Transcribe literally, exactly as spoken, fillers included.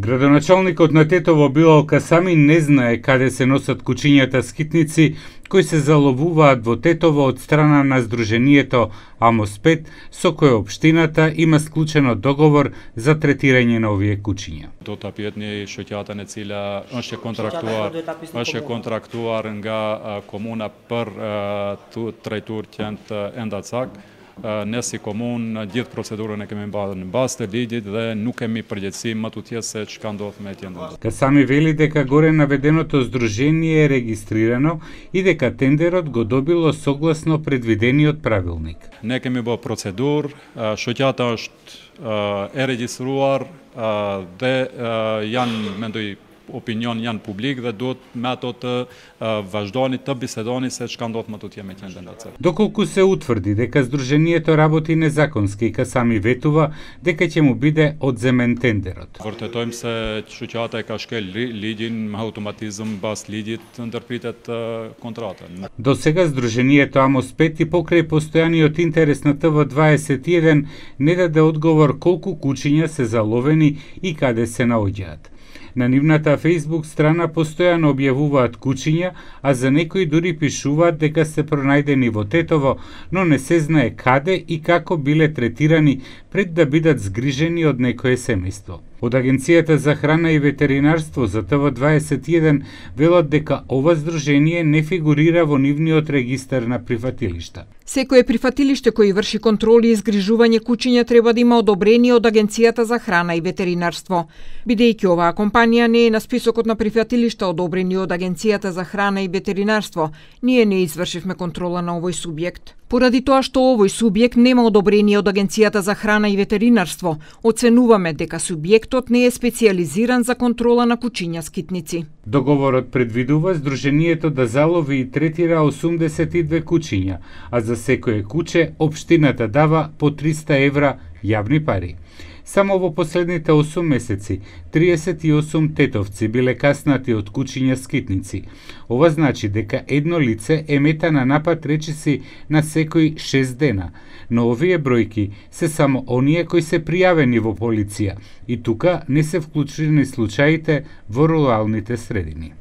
Градоначалникот на Тетово Билал Касами не знае каде се носат кучињата скитници кои се заловуваат во Тетово од страна на Сдруженијето Амос пет, со кое општината има склучено договор за третирање на овие кучиња. Do ta pyet një shoqatën e cila është e kontraktuar, është e kontraktuar nga komuna për të trajtuar qenë Endacak. Ne si komunë gjithë procedurën e kemi bërë në bazë të ligjit dhe nuk kemi përgjegjësi më tutje se çka ndodh me tjetër. Касами вели дека горе наведеното здружение е регистрирано и дека тендерот го добило согласно предвидениот правилник. Ne kemi bërë procedurë, shoqata është e regjistruar dhe janë, mendoj, opinion janë publik dhe duhet me ato të vazhdoni të bisedoni se çka ndodh më tutje me qendrën e Endacak. Доколку се утврди дека здруженијето работи незаконски, Касами ветува дека ќе му биде одземен тендерот. Vërtetojmë se shoqata e ka shkel ligjin me automatizëm bas ligjit ndërpritet kontratën. До сега здруженијето Амос пет и покрај постојаниот интерес на Т В дваесет и еден не даде одговор колку кучиња се заловени и каде се наоѓаат. На нивната Facebook страна постојано објавуваат кучиња, а за некои дури пишуваат дека се пронајдени во Тетово, но не се знае каде и како биле третирани пред да бидат згрижени од некое семејство. Од Агенцијата за храна и ветеринарство за Т В дваесет и еден велат дека ова здружение не фигурира во нивниот регистар на прифатилишта. Секое прифатилиште кој врши контроли и згрижување кучиња треба да има одобрение од Агенцијата за храна и ветеринарство. Бидејќи оваа компанија не е на списокот на прифатилишта одобрени од Агенцијата за храна и ветеринарство, ние не извршивме контрола на овој субјект. Поради тоа што овој субјект нема одобрение од Агенцијата за храна и ветеринарство, оценуваме дека субјектот не е специјализиран за контрола на кучиња скитници. Договорот предвидува здруженијето да залови и третира осумдесет и две кучиња, а за секое куче општината дава по триста евра јавни пари. Само во последните осум месеци, триесет и осум тетовци биле каснати од кучиња скитници. Ова значи дека едно лице е мета на напад речиси на секој шест дена, но овие бројки се само оние кои се пријавени во полиција и тука не се вклучени случаите во руралните средини.